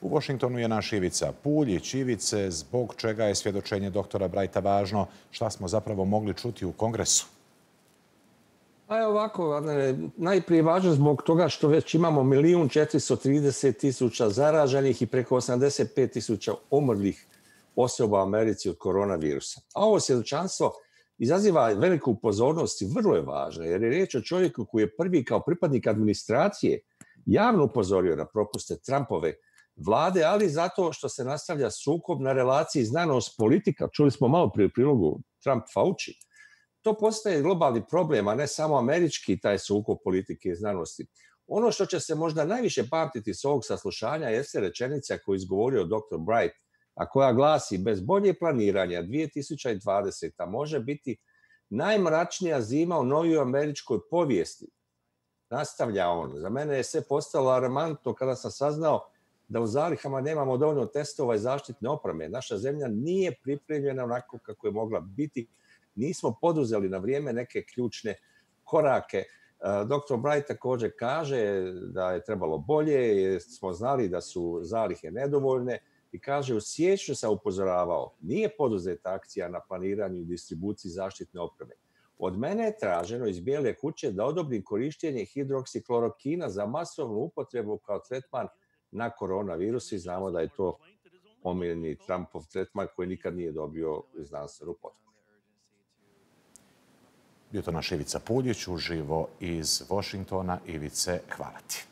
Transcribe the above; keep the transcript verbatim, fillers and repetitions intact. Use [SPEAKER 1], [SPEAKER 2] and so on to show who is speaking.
[SPEAKER 1] U Washingtonu je naš Ivica Puljić. Ivice, zbog čega je svjedočenje doktora Brighta važno? Šta smo zapravo mogli čuti u Kongresu?
[SPEAKER 2] A je ovako, najprije važno zbog toga što već imamo milijun četiristo trideset tisuća zaraženih i preko osamdeset pet tisuća umrlih osoba u Americi od koronavirusa. A ovo svjedočanstvo izaziva veliku pozornost i vrlo je važno, jer je riječ o čovjeku koji je prvi kao pripadnik administracije javno upozorio na propuste Trumpove vlade, ali zato što se nastavlja sukob na relaciji znanost-politika. Čuli smo malo prije u prilogu Trump-Fauci. To postaje globalni problem, a ne samo američki taj sukob politike i znanosti. Ono što će se možda najviše pamtiti s ovog saslušanja jeste rečenica koju je izgovorio doktor Bright, a koja glasi: bez bolje planiranja dvije tisuće dvadeseta može biti najmračnija zima u novijoj američkoj povijesti. Nastavlja on. Za mene je sve postalo alarmantno kada sam saznao da u zalihama nemamo dovoljno testova i zaštitne opreme. Naša zemlja nije pripremljena onako kako je mogla biti. Nismo poduzeli na vrijeme neke ključne korake. doktor Bright također kaže da je trebalo bolje, jer smo znali da su zalihe nedovoljne i kaže: u siječnju sam upozoravao, nije poduzeta akcija na planiranju i distribuciji zaštitne opreme. Od mene je traženo iz Bijele kuće da odobrim korištenje hidroksiklorokina za masovnu upotrebu kao tretman na koronavirus i znamo da je to omiljeni Trumpov tretman koji nikad nije dobio znanstvenu potporu.
[SPEAKER 1] Bio to naš Ivica Puljić, uživo iz Washingtona. Ivice, hvala ti.